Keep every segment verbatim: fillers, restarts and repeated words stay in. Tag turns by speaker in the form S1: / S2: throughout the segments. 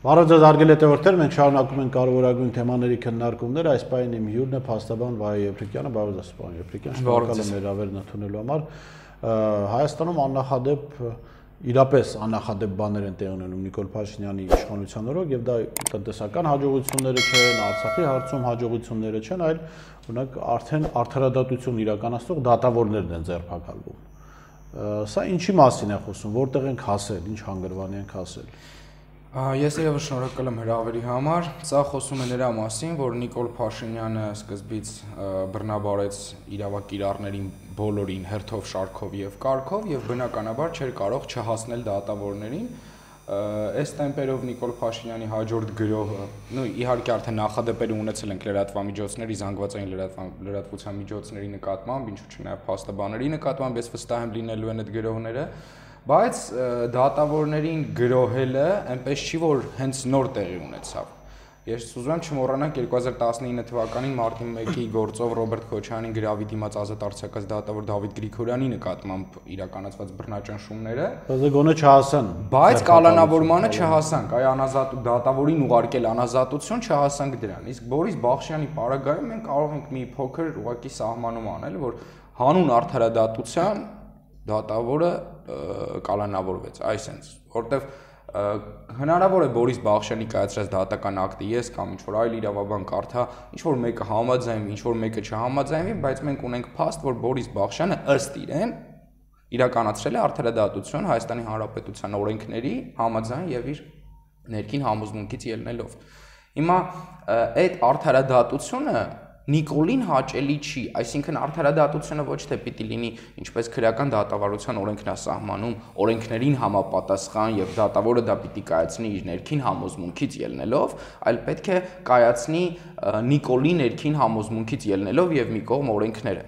S1: Բարև ձեզ հարգելի հետևորդներ, մենք շարունակում ենք կարևորագույն թեմաների քննարկումները, այս պահին իմ հյուրն է փաստաբան Վահե Եփրիկյանը, բարև ձեզ պարոն Եփրիկյան, շնորհակալ եմ հրավերն ընդունելու համար։ Հայաստանում աննախադեպ իրապես աննախադեպ բաներ են տեղի ունենում Նիկոլ Փաշինյանի իշխանության օրոք եւ դա տնտեսական հաջողությունները չեն, Արցախի հարցում հաջողությունները չեն, այլ օրինակ արդեն արդարադատություն իրականացնող դատավորներն են ձերբակալվում։ Սա ինչի մասին է խոսում, որտեղ ենք հասել, ինչ հանգրվանի ենք հասել։
S2: Ես երևս շնորհակալ եմ հրավերի համար, սա խոսում է նրա մասին, որ Նիկոլ Փաշինյանը սկզբից բռնաբարեց իրավակիրառներին բոլորին հերթով, շարքով եւ կարգով եւ բնականաբար չէր կարող չհասնել դատավորներին։ Այս տեմպերով Նիկոլ Փաշինյանի հաջորդ գրոհը, նույն իհարկե արդեն նախադեպեր ունեցել ենք լրատվամիջոցների, զանգվածային լրատվության միջոցների նկատմամբ, ինչու՞ չէ նաեւ փաստաբանների նկատմամբ, ես վստահ եմ լինելու են այդ գրոհները, բայց դատավորներին գրոհելը այնպես չի, որ հենց նոր տեղի ունեցավ։ Ես ուզում եմ չմոռանանք երկու հազար տասնինը թվականին մարտի մեկի գործով Ռոբերտ Քոչարյանի գրավի դիմաց ազատ արձակած դատավոր Դավիթ Գրիգորյանի նկատմամբ իրականացված բռնաճնշումները,
S1: բայց գոնե չհասան,
S2: բայց կալանավորմանը չհասանք, այ անազատ դատավորին ուղարկել անազատություն չհասանք դրան։ Իսկ Բորիս Բախշյանի պարագայում մենք կարող ենք մի փոքր ուղղակի սահմանում անել, որ հանուն արդարադատության դատավորը կալանավորվեց, այսինքն, որտեվ հնարավոր է Բորիս Բախշյանի կայացրած դատական ակտը ես կամ ինչ-որ այլ իրավաբան կարդա, ինչ-որ մեկը համաձայնվի, ինչ-որ մեկը չհամաձայնվի, բայց մենք ունենք փաստ, որ Բորիս Բախշյանը ըստ իրեն իրականացրել է արդարադատություն Հայաստանի Հանրապետության օրենքների համաձայն եւ իր ներքին համոզմունքից ելնելով։ Հիմա այդ արդարադատությունը Նիկոլին հաճելի չի, այսինքն արդարադատությունը ոչ թե պիտի լինի ինչպես քրեական դատավարության օրենքն է սահմանում, օրենքներին համապատասխան եւ դատավորը դա պիտի կայացնի իր ներքին համոզմունքից ելնելով, այլ պետք է կայացնի Նիկոլի ներքին համոզմունքից ելնելով եւ մի կողմ օրենքները։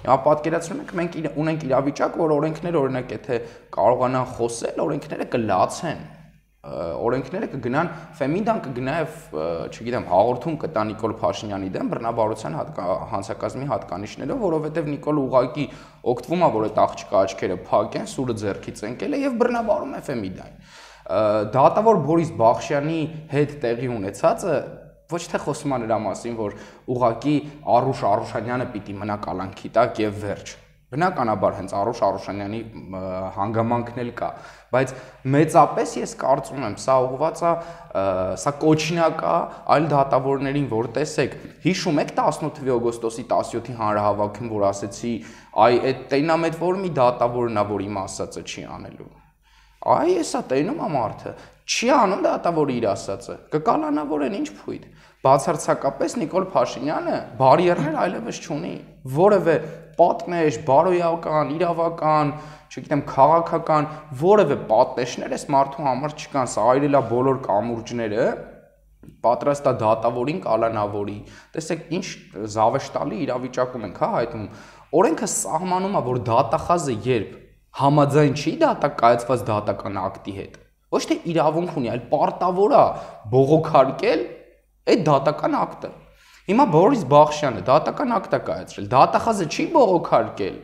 S2: Հիմա պատկերացնում եք, մենք ունենք իրավիճակ, որ օրենքները օրինակ եթե կարողանան խոսել, օրենքները կլացեն։ Օրենքները կգնան Ֆեմիդան կգնա եւ, չգիտեմ, հաղորդում կտա Նիկոլ Փաշինյանի դեմ բռնաբարության հանցակազմի հատկանիշներով, որովհետեւ Նիկոլը ուղղակի օգտվում է, որ այդ աղջկա աչքերը փակեն, սուրը ձեռքից ընկել է եւ բռնաբարում է Ֆեմիդային։ Դատավոր Բորիս Բախշյանի հետ տեղի ունեցածը ոչ թե խոսում է նրա մասին, որ ուղղակի Արուշ Արուշանյանը պիտի մնա կալանքի տակ եւ վերջ։ Բնականաբար հենց Արուշ Արուշանյանի հանգամանքն էլ կա, բայց մեծապես ես կարծում եմ, սա ուղղված է, սա կոչինակ է այլ դատավորներին, որ տեսեք, հիշում եք տասնութ օգոստոսի տասնյոթի հանրահավաքում, որ ասեցի, այ այդ տենամ այդ որ մի դատավորն է, որ իմ ասածը չի անելու։ Այ էսա տենում է մարդը, չի անում դատավորը իր ասածը, կկալանավորեն ինչ փույթ։ Բացարձակապես Նիկոլ Փաշինյանը բարիերներ այլևս չունի, որևէ պատնեշ, բարոյական, իրավական, չգիտեմ, քաղաքական, որևէ պատնեշներ այս մարդու համար չկան, սա այրելա բոլոր կամուրջները, պատրաստ է դատավորին կալանավորի։ Տեսեք, ինչ զավեշտալի իրավիճակում ենք, հա, հայտնում։ Օրենքը սահմանում է, որ դատախազը երբ համաձայն չի դատակայացված դատական ակտի հետ, ոչ թե իրավունք ունի, այլ պարտավոր է բողոքարկել այդ դատական ակտը։ Հիմա Բորիս Բախշյանը դատական ակտ է կայացրել, դատախազը չի բողոքարկել։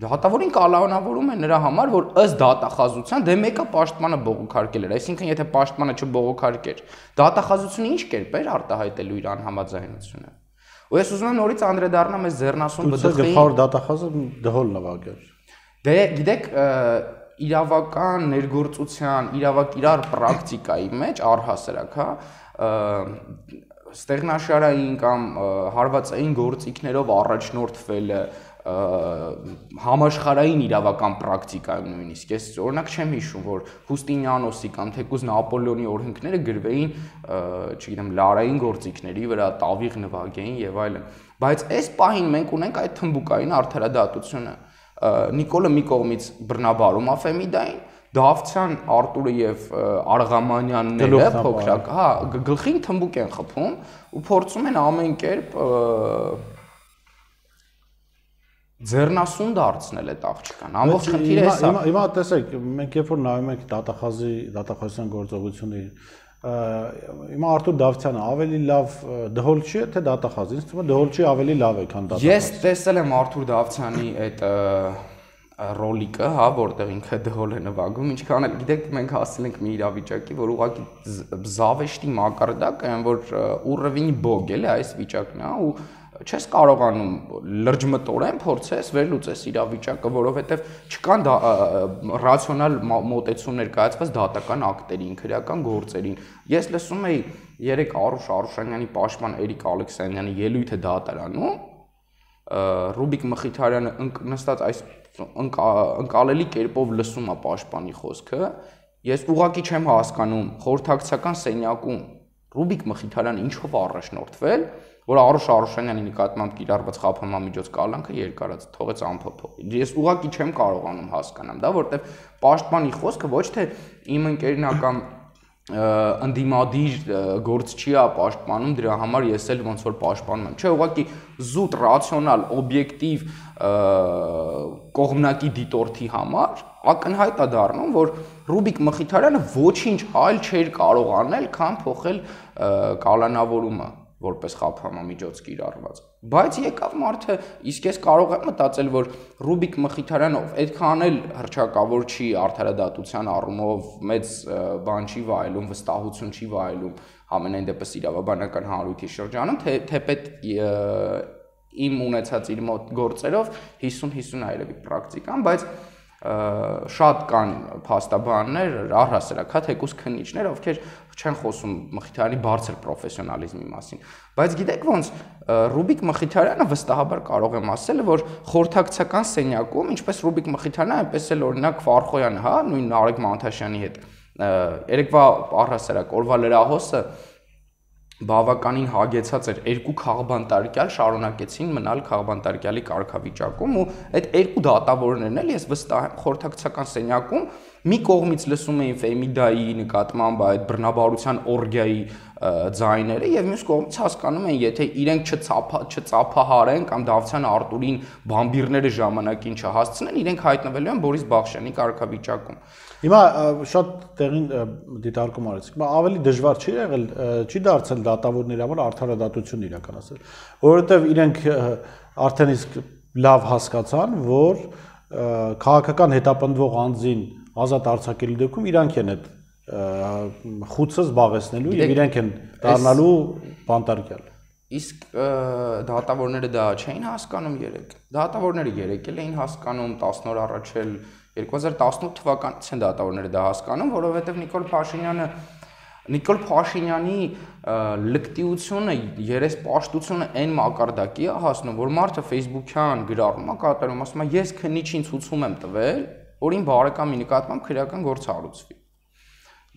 S2: Դատավորին կալանավորում է նրա համար, որ ըստ դատախազության դե մեկը պաշտպանը բողոքարկել էր, այսինքն եթե պաշտպանը չբողոքարկեր, դատախազությունը ինչ կերպ էր արտահայտելու իր անհամաձայնությունը։ Ու ես ուզում եմ նորից անդրադառնամ այս ձեռնասուն բդխի
S1: գլխավոր դատախազը դհոլ նվագեր։
S2: Դե գիտեք, իրավական ներգործության, իրավակիրառ պրակտիկայի մեջ առհասարակ, հա, ստեղնաշարային կամ հարվածային գործիքներով առաջնորդվելը համաշխարհային իրավական պրակտիկայում նույնիսկ ես օրինակ չեմ հիշում, որ Հուստինյանոսի կամ թեկուզ Նապոլեոնի օրենքները գրվեին, չգիտեմ, լարային գործիքների վրա, տավիղ նվագեին եւ այլն, բայց այս պահին մենք ունենք այդ թմբուկային արդարադատությունը։ Նիկոլը մի կողմից բռնաբարում է Ֆեմիդային, Դավթյան Արտուրը եւ Արղամանյանները փոքրակ, հա, գլխին թմբուկ են խփում ու փորձում են ամեն կերպ ձեռնասուն դարձնել այդ աղջկան։ Ամբողջ խնդիրը էս է։
S1: Հիմա տեսեք, մենք երբ որ նայում ենք դատախազի, դատախազության գործողություններին, հիմա Արտուր Դավթյանը ավելի լավ դհոլ չի, թե դատախազ։ Ինձ թվում է դհոլ չի ավելի լավ է, քան դատախազ։
S2: Ես տեսել եմ Արտուր Դավթյանի այդ ռոլիկը, հա, որտեղ ինքը դհոլ է նվագում, ինչքան էլ գիտեք, մենք հասել ենք մի իրավիճակի, որ ուղղակի զավեշտի մակարդակ են, որ ուռևինի բոգ էլի այս վիճակն է, ու չես կարողանում լրջմտորեն փորձես վերլուծես իրավիճակը, որովհետև չկան ռացիոնալ մոտեցումներ կայացված դատական ակտերին, քրեական գործերին։ Ես լսում էի երեք Արուշ Արուշանյանի պաշտպան Էրիկ Ալեքսանյանի ելույթը դատարանում, Ռուբիկ Մխիթարյանը նստած այս ընկալելի կերպով լսում է պաշտպանի խոսքը, ես ուղղակի չեմ հասկանում խորհրդակցական սենյակում Ռուբիկ Մխիթարյանը ինչով առաջնորդվել, որ Արուշ Արուշանյանի նկատմամբ կիրառված խափանամիջոց կալանքը երկարած թողեց անփոփոխ։ Ես ուղղակի չեմ կարողանում հասկանամ դա, որտեղ պաշտպանի խոսքը ոչ թե իմ ընկերնական ընդդիմադիր գործչի է պաշտպանում, դրա համար ես էլ ոնց որ պաշտպանում եմ։ Չէ, ուղղակի զուտ ռացիոնալ, օբյեկտիվ կողմնակի դիտորդի համար ակնհայտ է դառնում, որ Ռուբիկ Մխիթարյանը ոչինչ այլ չէր կարող անել, քան փոխել կալանավորումը որպես խափանամիջոց կիրառված։ Բայց եկավ մարդը, իսկ ես կարող եմ մտածել, որ Ռուբիկ Մխիթարյանը այդքան էլ հռչակավոր չի արդարադատության առումով, մեծ բան չի վայելում, վստահություն չի վայելում համենայն դեպս իրավաբանական հանրույթի շրջանում, թե թեպետ իմ ունեցած իր մոտ գործերով հիսուն հիսուն է երևի պրակտիկան, բայց շատ կան փաստաբաններ, առհասարակ հա թեկուզ քննիչներ, ովքեր չեն խոսում Մխիթարյանի բարձր պրոֆեսիոնալիզմի մասին, բայց գիտեք ոնց Ռուբիկ Մխիթարյանը վստահաբար կարող եմ ասել, որ խորհրդակցական սենյակում, ինչպես Ռուբիկ Մխիթարյանը, այնպես էլ օրինակ Ֆարխոյանը, հա, նույն Նարեկ Մանթաշյանի հետ, երեկվա առհասարակ օրվա լրահոսը բավականին հագեցած էր, երկու քաղբանտարկյալ շարունակեցին մնալ քաղբանտարկյալի կարգավիճակում ու այդ երկու դատավորներն էլ ես վստահ եմ խորհրդակցական սենյակում մի կողմից լսում էին Ֆեմիդայի նկատմամբ այդ բռնաբարության օրգիայի ձայները եւ մյուս կողմից հասկանում են, եթե իրենք չծափահարեն կամ Դավթյան Արտուրին բամբիրները ժամանակին չհասցնեն, իրենք հայտնվելու են Բորիս Բախշյանի կարգավիճակում։
S1: Հիմա շատ տեղին դիտարկում արեցիք, բայց ավելի դժվար չի եղել, չի դարձել դատավորների համար արդարադատություն իրականացնել, որովհետև իրենք արդեն իսկ լավ հասկացան, որ քաղաքական հետապնդվող անձին ազատ արձակելու դեպքում իրանք են այդ խուցը զբաղեցնելու եւ իրենք են դառնալու բանտարկյալ։
S2: Իսկ դատավորները դա չէին հասկանում երեք։ Դատավորները երեք էլ էին հասկանում, տասն օր առաջ էլ երկու հազար տասնութ թվականից են դատավորները դա հասկանում, որովհետև Նիկոլ Փաշինյանը Նիկոլ Փաշինյանի լկտիությունը, երեսպաշտությունը այն մակարդակի է հասնում, որ մարդը Facebook-յան գրառում է կատարում, ասում է ես քննիչին ցուցում եմ տվել, որ իմ բարեկամի նկատմամբ քրեական գործ հարուցվի։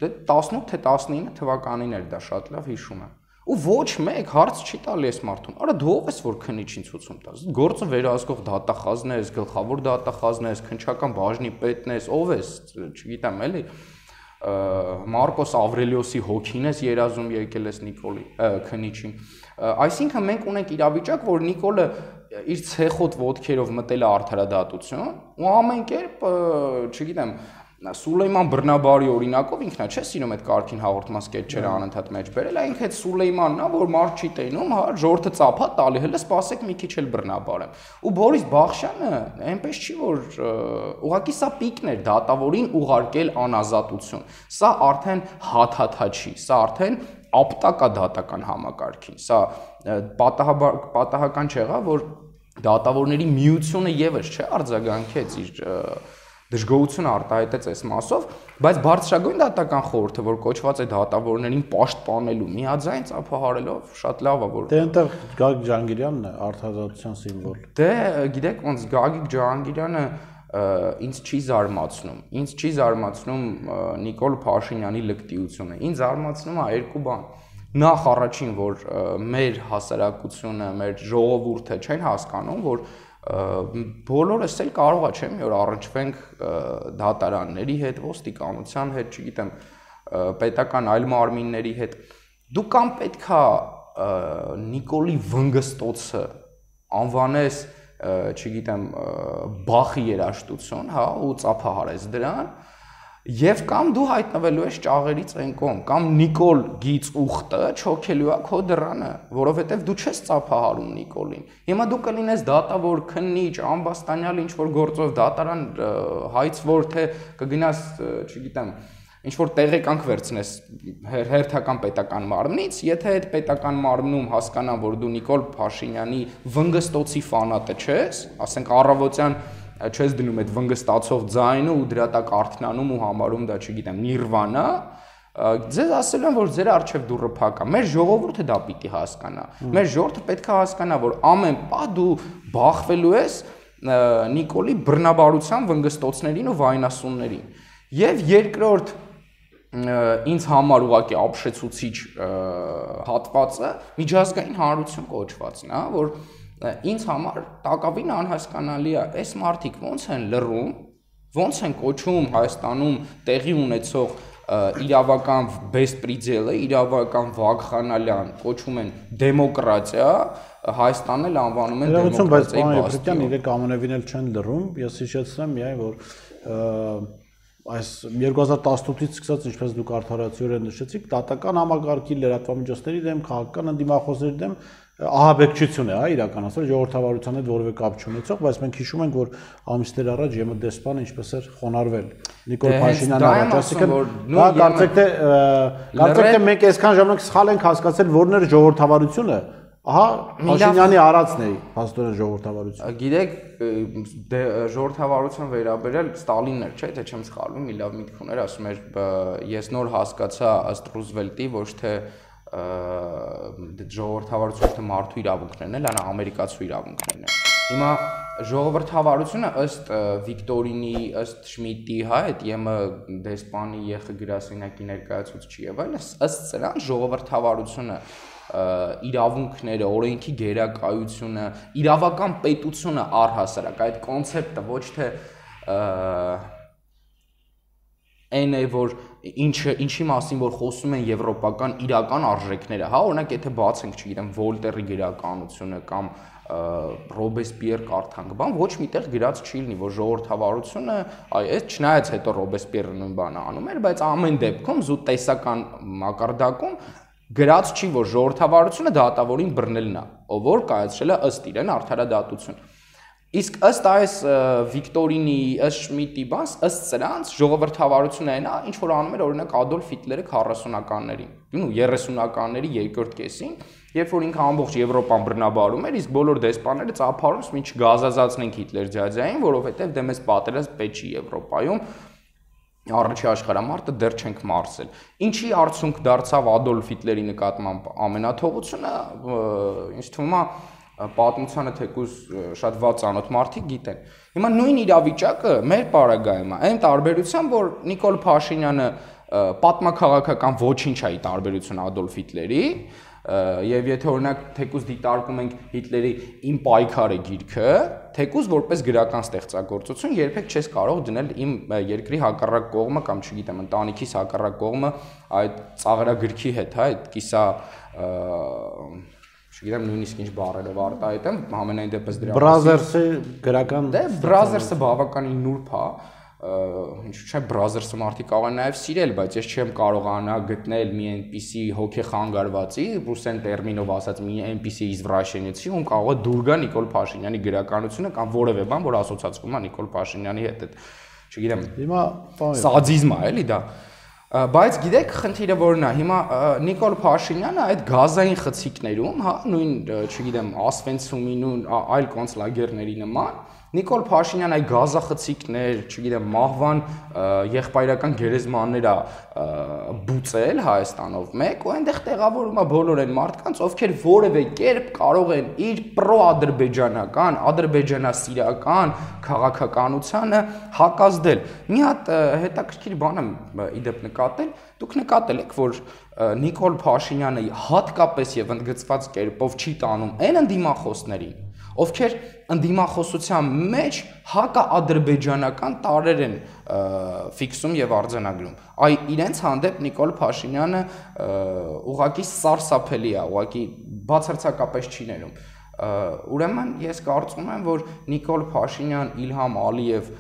S2: Դե տասնութ թե տասնինը թվականին էր դա շատ լավ հիշում եմ։ Ու ոչ մեկ հարց չի տալի այս մարդուն։ Արա դու ով ես որ քննիչին ցուցում տաս։ Գործը վերահսկող դատախազն ես, գլխավոր դատախազն ես, քննչական բաժնի պետն ես, ով ես, չգիտեմ էլի։ Մարկոս Ավրելիոսի հոգին ես երազում եկել ես Նիկոլի քննիչին։ Այսինքն մենք ունենք իրավիճակ, որ Նիկոլը իր ցեխոտ ոտքերով մտել է արդարադատություն ու ամեն կերպ, չգիտեմ, Սուլեյման Բռնաբարի օրինակով ինքնա չէ սիրում այդ կարգին հաղորդման սկեթչերը անընդհատ մեջ բերել, այնք այդ Սուլեյմանն է, որ մարդ չի տենում, հա, ժողովուրդը ծափա տալի, հələ սպասեք մի քիչ էլ բռնաբարեմ։ Ու Բորիս Բախշյանը այնպես չի, որ ուղղակի սա պիկն էր դատավորին ուղարկել անազատություն։ Սա արդեն հաթաթա չի, սա արդեն ապտակա դատական համակարգին։ Սա պատահական չեղավ, որ դատավորների միությունը եւս չէ արձագանքեց իր դժգոհությունը արտահայտեց այս մասով, բայց բարձրագույն դատական խորհուրդը, որ կոչված է դատավորներին պաշտպանելու, միաձայն ծափահարելով, շատ լավ է, որ
S1: դե այնտեղ Գագիկ Ջահանգիրյանն է արդարադատության սիմվոլ։
S2: Դե գիտեք ոնց Գագիկ Ջահանգիրյանը ինձ չի զարմացնում։ Ինձ չի զարմացնում Նիկոլ Փաշինյանի լկտիությունը։ Ինձ զարմացնում է երկու բան։ Նախ առաջին, որ մեր հասարակությունը, մեր ժողովուրդը չեն հասկանում, որ բոլորս էլ կարող է չէ՞ մի օր առնչվենք դատարանների հետ, ոստիկանության հետ, չգիտեմ, պետական այլ մարմինների հետ։ Դու կամ պետքա Նիկոլի վնգստոցը անվանես, չգիտեմ, Բախի երաժշտություն, հա, ու ծափահարես դրան, Եվ կամ դու հայտնվելու ես ճաղերից այն կողմ, կամ Նիկոլ գից ուխտը չոքելու է քո դռանը, որովհետև դու չես ծափահարում Նիկոլին։ Հիմա դու կլինես դատավոր, քննիչ, ամբաստանյալ ինչ-որ գործով դատարան հայցվոր, թե կգնաս, չգիտեմ, ինչ-որ տեղեկանք վերցնես հերթական պետական մարմնից, եթե այդ պետական մարմնում հասկանան, որ դու Նիկոլ Փաշինյանի վնգստոցի ֆանատը չես, ասենք առավոտյան չես դնում այդ վնգստացող ձայնը ու դրա տակ արթնանում ու համարում դա, չգիտեմ, նիրվանա, ձեզ ասել են, որ ձեր առջև դուռը փակ է։ Մեր ժողովուրդը դա պիտի հասկանա։ Մեր ժողովուրդը պետք է հասկանա, որ ամեն պահ դու բախվելու ես Նիկոլի բռնաբարության վնգստոցներին ու վայնասուններին։ Եվ երկրորդ ինձ համար ուղղակի ապշեցուցիչ հատվածը միջազգային հանրություն կոչվածն է, որ ինձ համար տակավին անհասկանալի է, այս մարդիկ ոնց են լռում, ոնց են կոչում Հայաստանում տեղի ունեցող իրավական բեսպրիդելը, իրավական վագխանալյան, կոչում են դեմոկրատիա, Հայաստանն էլ անվանում են դեմոկրատիայի բաստիոն։
S1: Իրենք ամենևին էլ չեն լռում, ես հիշեցնեմ միայն, որ այս երկու հազար տասնութից սկսած, ինչպես դուք արդարացիորեն նշեցիք, դատական համակարգի լրատվամիջոցների դեմ, քաղաքական ընդդիմախոսների դեմ ահաբեկչություն է, հա, իրականացել ժողովրդավարության հետ որևէ կապ չունեցող, բայց մենք հիշում ենք, որ ամիսներ առաջ ԵՄԴ դեսպանը ինչպես էր խոնարհվել Նիկոլ Փաշինյանը առաջ, ասիկան դա կարծեք թե կարծեք թե մենք այսքան ժամանակ սխալ ենք հասկացել, որն էր ժողովրդավարությունը, ահա Փաշինյանի արածն է հաստորեն ժողովրդավարություն։
S2: Գիտեք, ժողովրդավարության վերաբերել Ստալինն էր, չէ՞, թե չեմ սխալվում, մի լավ միտք ուներ, ասում էր, ես նոր հասկացա ըստ Ռուզվելտի, ոչ թե ժողովրդավարությունը մարդու իրավունքներն են, այլ ամերիկացու իրավունքներն են։ Հիմա ժողովրդավարությունը ըստ Վիկտորինի, ըստ Շմիդտի, հա, այդ ԵՄ դեսպանի ԵԽ գրասենյակի ներկայացուցիչի եւ այլն, ըստ սրան ժողովրդավարությունը իրավունքները, օրենքի գերակայությունը, իրավական պետությունը առհասարակ, այդ կոնցեպտը ոչ թե այն է, որ ինչը ինչի մասին որ խոսում են եվրոպական իրական արժեքները, հա, օրինակ եթե բացենք, չգիտեմ, Վոլտերի գրականությունը կամ Ռոբեսպիեր կարդանք, բան ոչ միտեղ գրած չի լինի, որ ժողովրդավարությունը, այ այս չնայած հետո Ռոբեսպիերը նույն բանը անում էր, բայց ամեն դեպքում զուտ տեսական մակարդակում գրած չի, որ ժողովրդավարությունը դատավորին բռնելն է, ով որ կայացրել է ըստ իրեն արդարադատություն։ Իսկ ըստ այս Վիկտորինի, ըստ Շմիդտի բաց, ըստ սրանց ժողովրդավարությունը այն է, ինչ որ անում էր օրինակ Ադոլֆ Հիտլերը քառասունականներին, ու երեսունականների երկրորդ կեսին, երբ որ ինքը ամբողջ Եվրոպան բռնաբարում էր, իսկ բոլոր դեսպանները ծափարում, ինչ գազազացնենք Հիտլեր ջաջային, որովհետև դե մեզ պատերազմ պետք չի Եվրոպայում, Առաջի աշխարհամարտը դեռ չենք մարսել։ Ինչի արդյունք դարձավ Ադոլֆ Հիտլերի նկատմամբ ամենաթողությունը, ինձ թվում է պատմությանը թեկուզ շատ վատ ծանոթ մարդիկ գիտեն։ Հիմա նույն իրավիճակը մեր պարագայում է, այն տարբերությամբ, որ Նիկոլ Փաշինյանը պատմաքաղաքական ոչինչ է ի տարբերություն Ադոլֆ Հիտլերի, եւ եթե օրինակ թեկուզ դիտարկում ենք Հիտլերի Իմ պայքարը գիրքը, թեկուզ որպես գրական ստեղծագործություն երբեք չես կարող դնել իմ երկրի հակառակ կողմը կամ չգիտեմ ընտանիքիս հակառակ կողմը այդ ծաղրագրքի հետ, հա, այդ կիսա չգիտեմ նույնիսկ ինչ բառերով արտահայտեմ, ամենայն դեպս դրա
S1: Բրազերսը գրական
S2: դե Բրազերսը բավականին նուրբ է, ինչու՞ չէ Բրազերսը մարդիկ կարող են նաև սիրել, բայց ես չեմ կարողանա գտնել մի այնպիսի հոգեխանգարվածի, ռուսեն տերմինով ասած մի այնպիսի իզվրաշենիցի, ում կարող է դուր գա Նիկոլ Փաշինյանի գրականությունը կամ որևէ բան, որ ասոցացվում է Նիկոլ Փաշինյանի հետ, չգիտեմ։
S1: Հիմա
S2: սադիզմ է, էլի դա։ Բայց գիտեք, խնդիրը որն է, հիմա Նիկոլ Փաշինյանը այդ գազային խցիկներում, հա, նույն, չգիտեմ, Ասվենցումին ու այլ կոնցլագերների նման, Նիկոլ Փաշինյանը այդ գազախցիկներ, չգիտեմ, մահվան եղբայրական գերեզմաններ է բուծել Հայաստանով մեկ, ու այնտեղ տեղավորում է բոլոր այն մարդկանց, ովքեր որևէ կերպ կարող են իր պրո-ադրբեջանական, ադրբեջանասիրական քաղաքականությանը հակազդել։ Մի հատ հետաքրքիր բան եմ իդեպ նկատել, դուք նկատել եք, որ Նիկոլ Փաշինյանը հատկապես եւ ընդգծված կերպով չի տանում այն ընդդիմախոսներին, ովքեր ընդդիմախոսության մեջ հակաադրբեջանական տարրեր են ֆիքսում եւ արձանագրում։ Այ իրենց հանդեպ Նիկոլ Փաշինյանը ուղղակի սարսափելի է, ուղղակի բացարձակապես չի ներում։ Ուրեմն ես կարծում եմ, որ Նիկոլ Փաշինյան, Իլհամ Ալիև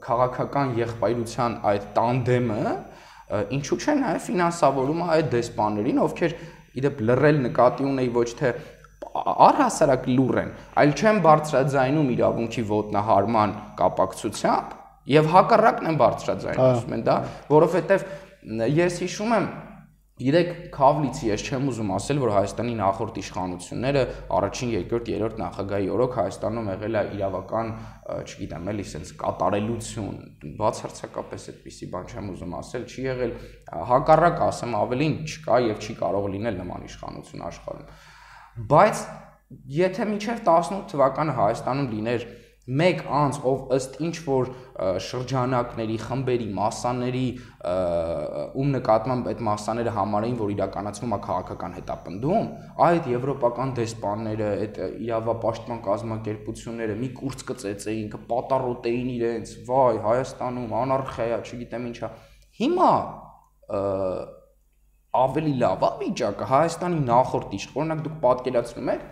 S2: քաղաքական եղբայրության այդ տանդեմը ինչու՞ չէ նաև ֆինանսավորում է այդ դեսպաններին, ովքեր իդեպ լռել նկատի ունեի ոչ թե առհասարակ լուր են, այլ չեն բարձրաձայնում իրավունքի ոտնահարման կապակցությամբ եւ հակառակն են բարձրաձայնում են դա, որովհետեւ ես հիշում եմ Գիտեք, Քավլիցի ես չեմ ուզում ասել, որ Հայաստանի նախորդ իշխանությունները առաջին, երկրորդ, երրորդ նախագահի օրոք Հայաստանում եղել է իրավական, չգիտեմ, էլի sense կատարելություն, բացարձակապես այդպիսի բան չեմ ուզում ասել, չի եղել, հակառակ ասեմ, ավելին չկա եւ չի կարող լինել նման իշխանություն աշխարհում։ Բայց եթե մինչև տասնութ թվականը Հայաստանում լիներ մեկ անձ, ով ըստ ինչ որ շրջանակների, խմբերի, մասաների, ում նկատմամբ այդ մասաները համարեին, որ իրականացվում է քաղաքական հետապնդում, այդ եվրոպական դեսպանները, այդ իրավապաշտպան կազմակերպությունները մի կուրծ կծեծեին, կպատառոտեին իրենց, վայ, Հայաստանում անարխիա, չգիտեմ ինչա։ Հիմա ավելի լավ է վիճակը, Հայաստանի նախորդ իշխ, օրինակ դուք պատկերացնում եք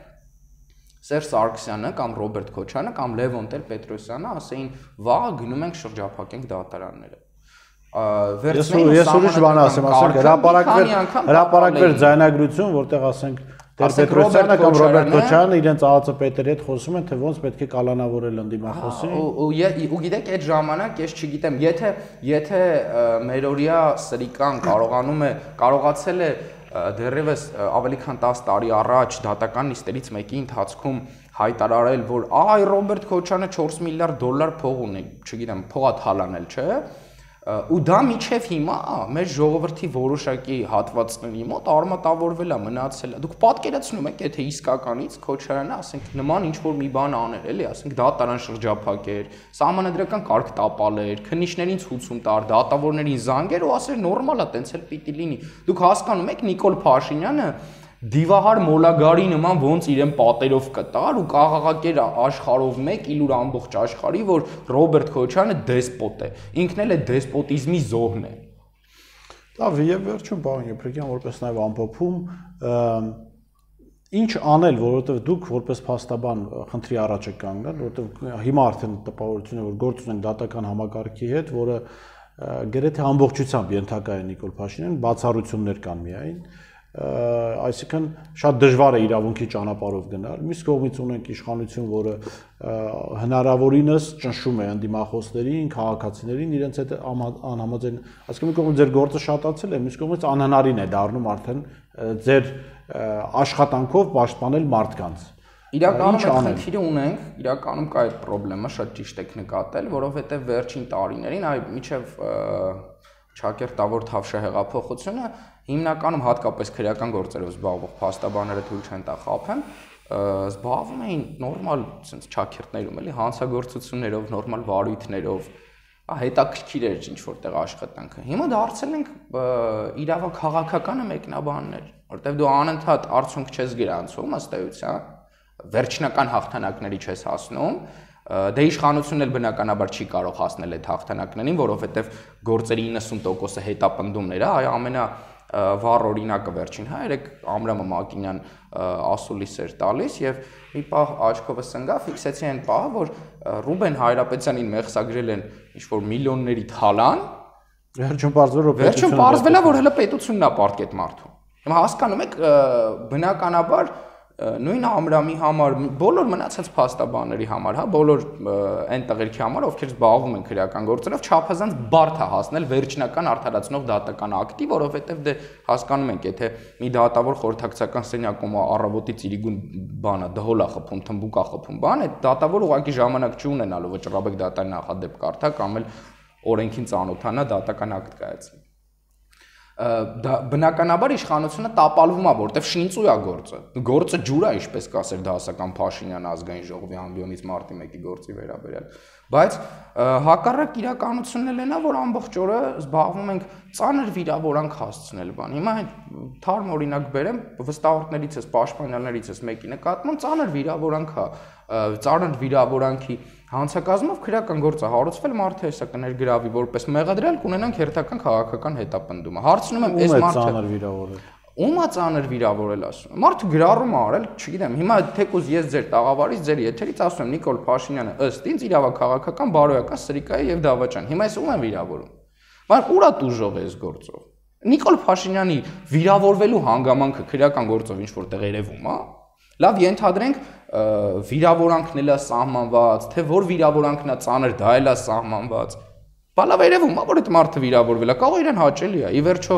S2: Սերժ Սարգսյանը կամ Ռոբերտ Քոչարյանը կամ Լևոն Տեր-Պետրոսյանը ասեին վաղը գնում ենք շրջափակենք դատարանները։
S1: Ես ուրիշ բան ասեմ, ասենք հրապարակվեր հրապարակվեր ձայնագրություն, որտեղ ասենք Տեր-Պետրոսյանը կամ Ռոբերտ Քոչարյանը իրենց ԱԱԾ պետերի հետ խոսում են, թե ոնց պետք է կալանավորել ընդդիմախոսին։
S2: Ու գիտեք, այդ ժամանակ ես չգիտեմ, եթե եթե մերօրյա սրիկան կարողանում է կարողացել է դեռևս ավելի քան տասը տարի առաջ դատական նիստերից մեկի ընթացքում հայտարարել, որ այ Ռոբերտ Քոչարյանը չորս միլիարդ դոլար փող ունի, չգիտեմ, փողա թալանել, չէ՞։ Ու դա միջև հիմա մեր ժողովրդի որոշակի հատվածների մոտ արմատավորվել է, մնացել է։ Դուք պատկերացնում եք, եթե իսկականից Քոչարյանը, ասենք, նման ինչ-որ մի բան աներ, էլի, ասենք, դատարան շրջափակեր, սահմանադրական կարգ տապալեր, քննիչներին ցույցում տար, դատավորներին զանգեր ու ասեր նորմալ է, տենց էլ պիտի լինի։ Դուք հասկանում եք Նիկոլ Փաշինյանը դիվահար մոլագարի նման ոնց իրեն պատերով կտար ու կաղաղակեր աշխարհով մեկ իլուր ամբողջ աշխարհի, որ Ռոբերտ Քոչարյանը դեսպոտ է, ինքն էլ է դեսպոտիզմի զոհն է։
S1: Լավ, եւ վերջում պարոն Եփրիկյան, որպես նաեւ ամփոփում, ինչ անել, որովհետեւ դուք որպես փաստաբան խնդրի առաջ եք կանգնել, որովհետեւ հիմա արդեն տպավորություն է, որ գործ ունենք դատական համակարգի հետ, որը գրեթե ամբողջությամբ ենթակա է Նիկոլ Փաշինյանին, բացառություններ կան միայն այսինքն շատ դժվար է իրավունքի ճանապարհով գնալ։ Մյուս կողմից ունենք իշխանություն, որը հնարավորինս ճնշում է ընդդիմախոսներին, քաղաքացիներին, իրենց հետ անհամաձայն, այսինքն մի կողմից ձեր գործը շատացել է, մյուս կողմից անհնարին է դառնում արդեն ձեր աշխատանքով պաշտպանել մարդկանց։
S2: Իրականում այդ խնդիրը ունենք, իրականում կա այդ խնդրեմը, շատ ճիշտ եք նկատել, որովհետև վերջին տարիներին, այ միջև Չակերտավոր Թավշյա հեղափոխությունը հիմնականում հատկապես քրեական գործերով զբաղվող փաստաբանները թույլ չեն տա խաբեն, զբաղվում էին նորմալ sense չակերտներում, էլի հանցագործություններով, նորմալ վարույթներով, հետաքրքիր էր ինչ որտեղ աշխատանքը։ Հիմա դարձել ենք իրավաքաղաքականը մեկնաբաններ, որտեղ դու անընդհատ արդյունք չես գրանցում, ըստ էության, վերջնական հաղթանակների չես հասնում, դե իշխանությունն էլ բնականաբար չի կարող հասնել այդ հաղթանակներին, որովհետև գործերի իննսուն տոկոսը հետապնդումներ է, այ ամենա վառ օրինակը վերջին, հա, երեք Ամրամը Մակինյան ասուլիս էր տալիս եւ մի պահ աչքովս ընկա, ֆիքսեցի այն պահը, որ Ռուբեն Հայրապետյանին մեղսագրել են ինչ-որ միլիոնների թալան,
S1: վերջում պարզվել որ
S2: վերջում պարզվել է, որ հələ պետությունն է պարտք այդ մարդու։ Հիմա հասկանում եք, բնականաբար նույն Ամրամի համար, բոլոր մնացած փաստաբանների համար, հա, բոլոր այն տղերքի համար, ովքեր զբաղվում են քրեական գործերով, չափազանց բարդ է հասնել վերջնական արդարացնող դատական ակտի, որովհետև դե հասկանում ենք, եթե մի դատավոր խորհրդակցական սենյակում առավոտի ծիրիգուն բանա, դհոլ է խփում, թմբուկ է խփում, բան, այդ դատավոր ուղղակի ժամանակ չունենալու վճռաբեկ դատարանի նախադեպ կարդա կամ էլ օրենքին ծանոթանա դատական ակտ կայացնի։ Բնականաբար իշխանությունը տապալվում է, որտեվ շինծու է գործը։ Գործը ջուր է, ինչպես կասեր դասական Փաշինյանը ազգային ժողովի ամբիոնից մարտի մեկի գործի վերաբերյալ։ Բայց հակառակ իրականությունն էլ նա, որ ամբողջ օրը զբաղվում ենք ծանր վիրավորանք հասցնել բան։ Հիմա այդ թարմ օրինակ բերեմ, վստահորդներից ես, պաշտպանյալներից ես մեկի նկատմամբ ծանր վիրավորանք է, ծանր վիրավորանքի հանցակազմով քրեական գործը հարուցվել, մարդը հեսա կներգրավի որպես մեղադրյալ, կունենանք հերթական քաղաքական հետապնդումը։ Հարցնում եմ, այս մարդը Ումա ծանր վիրավորել ասում։ Մարդը գրառում է արել, չգիտեմ, հիմա թեկուզ ես ձեր տաղավարից, ձեր եթերից ասում եմ Նիկոլ Փաշինյանը ըստ ինձ իրավաքաղաքական բարոյական սրիկայի եւ դավաճան։ Հիմա ես ում եմ վիրավորում։ Բայց ուրա տուժով է այս գործով։ Նիկոլ Փաշինյանի վիրավորվելու հանգամանքը քրեական գործով ինչ որտեղ երևում է։ Լավ, ենթադրենք վիրավորանքն էլա սահմանված, թե որ վիրավորանքն է ծանր, դա էլա սահմանված։ Բալավ երևում է, որ այդ մարդը վիրավորվել է, կարող իրեն հաճելի է։ Ի վերջո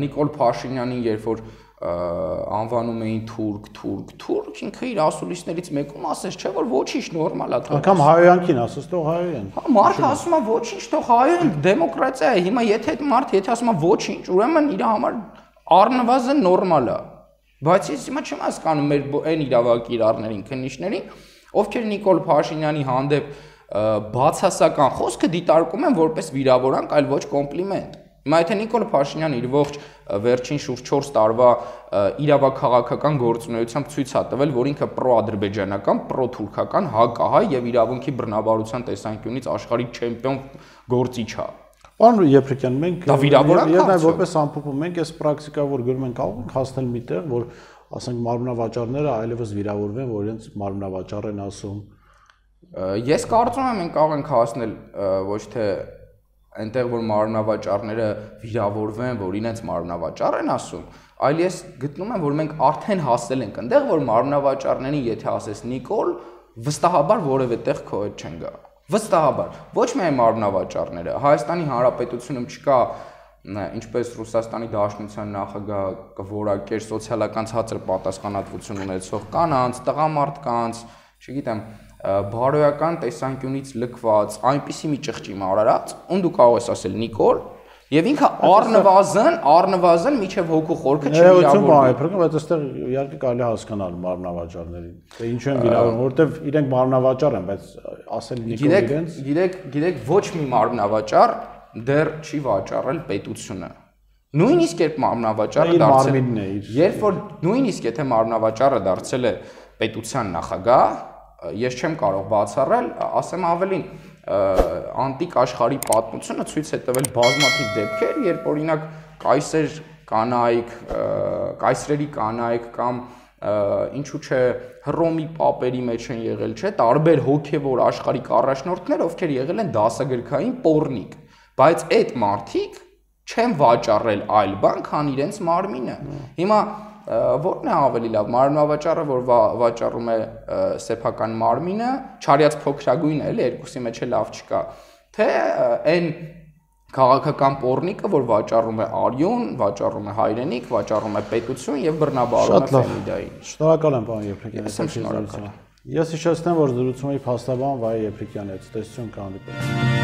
S2: Նիկոլ Փաշինյանին երբ որ անվանում էին թուրք, թուրք, թուրք, ինքը իր ասուլիսներից մեկում ասեց, չէ՞ որ ոչինչ նորմալ է թող։
S1: Ակամ հայոյանքին ասես թող հայոյան։
S2: Հա, մարդը ասում է ոչինչ թող հայոյան, դեմոկրատիա է։ Հիմա եթե այդ մարդը եթե ասում է ոչինչ, ուրեմն իր համար առնվազն նորմալ է։ Բայց ես հիմա չեմ հասկանում մեր այն իրավական կիրառներին, քննիչներին, ովքեր Նիկոլ Փաշինյանի հանդեպ բացասական խոսքը դիտարկում են որպես վիրավորանք, այլ ոչ կոմպլիմենտ։ Հիմա եթե Նիկոլ Փաշինյանը իր ողջ վերջին շուրջ չորս տարվա իրավաքաղաքական գործունեությամբ ցույց է տվել, որ ինքը պրոադրբեջանական, պրոթուրքական, հակահայ եւ իրավունքի բռնաբարության տեսանկյունից աշխարհի չեմպիոն գործիչ է։
S1: Պարոն Եփրիկյան, մենք
S2: դա վիրավորանք
S1: է, եւ որպես ամփոփում մենք այս պրակտիկա, որ գրում ենք, կարող ենք հասնել միտեղ, որ ասենք մարմնավաճառները այլևս վիրավորվեն, որ իրենց մարմնավաճառ են ասում։
S2: Ես կարծում եմ մենք կարող ենք հասնել ոչ թե այնտեղ որ մարմնավաճառները վիրավորվեն, որ իրենց մարմնավաճառ են ասում, այլ ես գտնում եմ, որ մենք արդեն հասել ենք այնտեղ, որ մարմնավաճառներին, եթե ասես Նիկոլ, վստահաբար որևէ տեղ քո հետ չեն գա։ Վստահաբար։ Ոչ միայն մարմնավաճառները, Հայաստանի Հանրապետությունում չկա, ինչպես Ռուսաստանի Դաշնության նախագահ կորակեր սոցիալական ցածր պատասխանատվություն ունեցող կանանց, տղամարդկանց, չգիտեմ, բարոյական տեսանկյունից լքված, այնպիսի մի ճղճի մարարած, ում դու կարող ես ասել Նիկոլ, եւ ինքը առնվազն, առնվազն միջև հոգու խորքը
S1: չվիրավորվի։ Բայց այստեղ իհարկե կարելի հասկանալ մարմնավաճառներին, թե ինչու են վիրավորվում, որովհետեւ իրենք մարմնավաճառ են, բայց ասել Նիկոլ իրենց։
S2: Գիտեք, գիտեք, ոչ մի մարմնավաճառ դեռ չի վաճառել պետությունը։ Նույնիսկ երբ մարմնավաճառը դարձել է, երբ որ նույնիսկ եթե մարմնավաճառը դարձել է պետության նախագահ, ես չեմ կարող բացառել, ասեմ ավելին, անտիկ աշխարհի պատմությունը ցույց է տվել բազմաթիվ դեպքեր, երբ օրինակ կայսեր կանայք, կայսրերի կանայք կամ ինչու՞ չէ Հռոմի պապերի մեջ են եղել, չէ, տարբեր հոգևոր աշխարհիկ առաջնորդներ, ովքեր եղել են դասագրքային պոռնիկ, բայց այդ մարդիկ չեն վաճառել այլ բան, քան իրենց մարմինը։ Հիմա որն է ավելի լավ, մարմնավաճառը, որ վաճառում է սեփական մարմինը, չարյաց փոքրագույնը, էլի երկուսի մեջ է լավ չկա, թե այն քաղաքական պոռնիկը, որ վաճառում է արյուն, վաճառում է հայրենիք, վաճառում է պետություն եւ բռնաբարում է ֆեմիդային։
S1: Շնորհակալ եմ, պարոն Եփրիկյան։ Ես հիշեցնեմ, որ զրուցում էի փաստաբան Վահե Եփրիկյանի հետ, տեսություն կհանդիպենք։